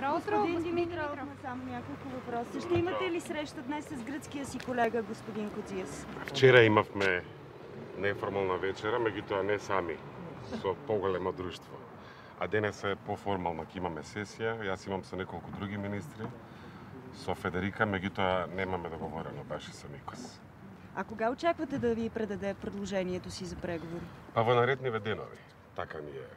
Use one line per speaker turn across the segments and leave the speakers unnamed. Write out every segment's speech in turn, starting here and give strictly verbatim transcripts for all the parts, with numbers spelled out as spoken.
Добро утро, господин Димитров.
Само няколко въпроса. Ще имате ли среща днес с гръцкия си колега, господин Кодзиас?
Вчера имавме неформална вечера, меѓутоа не сами, со поголемо друштво. А денес е поформална, ќе имаме сесија, јас имам со неколку други министри, со Федерика, меѓутоа немаме договорено баш и со Никос.
А кога очаквате да ви предаде предложението си за преговори?
Па во наредниве денови, така ни е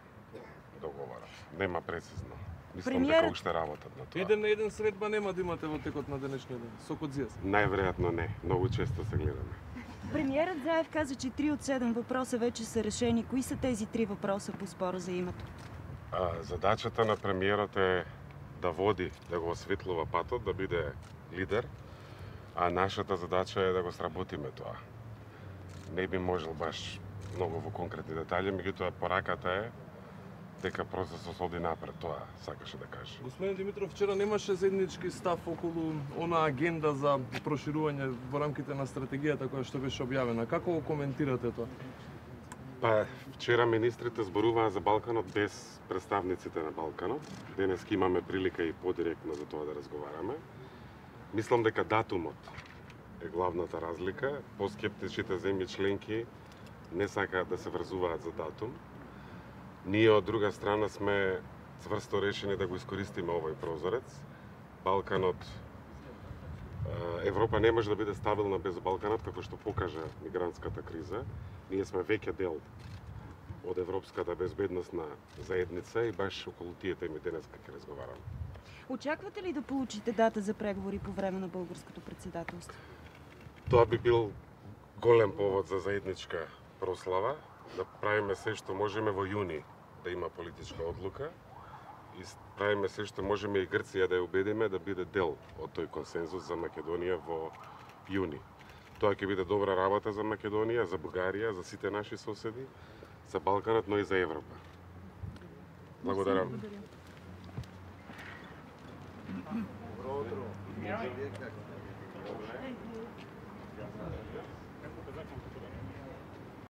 договорот. Нема прецизно. Мислам
Премиерът...
дека уште работат на тоа.
Еден на еден средба нема да имате во текот на денешниот ден, со Кодзиас.
Најверојатно не, многу често се гледаме.
Премиерът Заев каза, че три от седем въпроса вече са решени. Кои са тези три въпроса по спора за името?
А, задачата на премиерот е да води, да го осветлува патот, да биде лидер, а нашата задача е да го сработиме тоа. Не би можел баш многу во конкретни детали, меѓутоа пораката е дека процесот оди напред, тоа сакаше да каже.
Господин Димитров, вчера немаше заеднички став околу она агенда за проширување во рамките на стратегијата која што беше објавена. Како го коментирате тоа?
Па, вчера министрите зборуваа за Балканот без представниците на Балканот. Денес имаме прилика и подиректно за тоа да разговараме. Мислам дека датумот е главната разлика. Поскептичните земји членки не сакаат да се врзуваат за датум. Ние од друга страна сме цврсто решени да го искористиме овој прозорец. Балканот, Европа не може да биде стабилна без Балканот, како што покажа мигрантската криза. Ние сме веќе дел од европската безбедносна заедница и баш околу тие теми денес ќе разговараме.
Очаквате ли да получите дата за преговори по време на българското председателство?
Тоа би бил голем повод за заедничка прослава, да правиме се што можеме во јуни да има политичка одлука и правиме се што можеме и Грција да ја убедиме да биде дел од тој консензус за Македонија во јуни. Тоа ќе биде добра работа за Македонија, за Бугарија, за сите наши соседи, за Балканот, но и за Европа. Благодарам.
Добро утро.